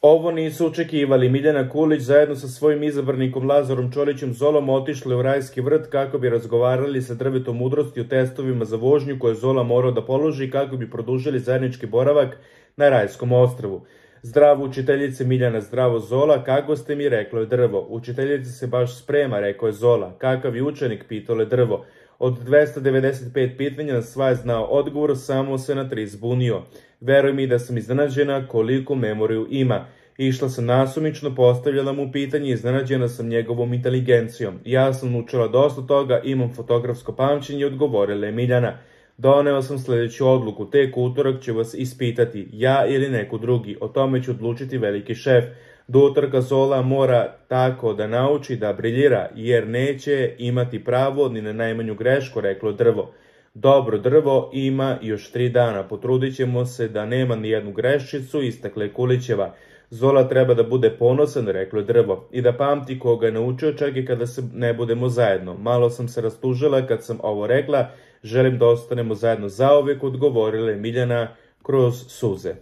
Ovo nisu očekivali. Miljana Kulić zajedno sa svojim izabranikom Lazarom Čolićem Zolom otišli u Rajski vrt kako bi razgovarali sa drvetom mudrosti o testovima za vožnju koje Zola morao da položi kako bi produžili zajednički boravak na Rajskom ostrvu. Zdravo učiteljice Miljana, zdravo Zola, kako ste mi, reklo je drvo. Učiteljica se baš sprema, rekao je Zola. Kakav je učenik, pitalo je drvo. Od 295 pitanja na sva je znao odgovor, samo se na 3 zbunio. Veruj mi da sam iznenađena koliko memoriju ima. Išla sam nasumično, postavljala mu pitanje i iznenađena sam njegovom inteligencijom. Ja sam naučila dosta toga, imam fotografsko pamćenje, odgovorila je Miljana. Doneo sam sljedeću odluku, tek utorak ću vas ispitati, ja ili neko drugi, o tome će odlučiti veliki šef. Do utorka Zola mora tako da nauči da briljira, jer neće imati pravo ni na najmanju grešku, reklo drvo. Dobro, drvo, ima još 3 dana, potrudit ćemo se da nema ni jednu greščicu, istakle Kulićeva. Zola treba da bude ponosan, reklo je drvo, i da pamti koga je naučio čak i kada se ne budemo zajedno. Malo sam se rastužila kad sam ovo rekla, želim da ostanemo zajedno zauvek, odgovorila je Miljana kroz suze.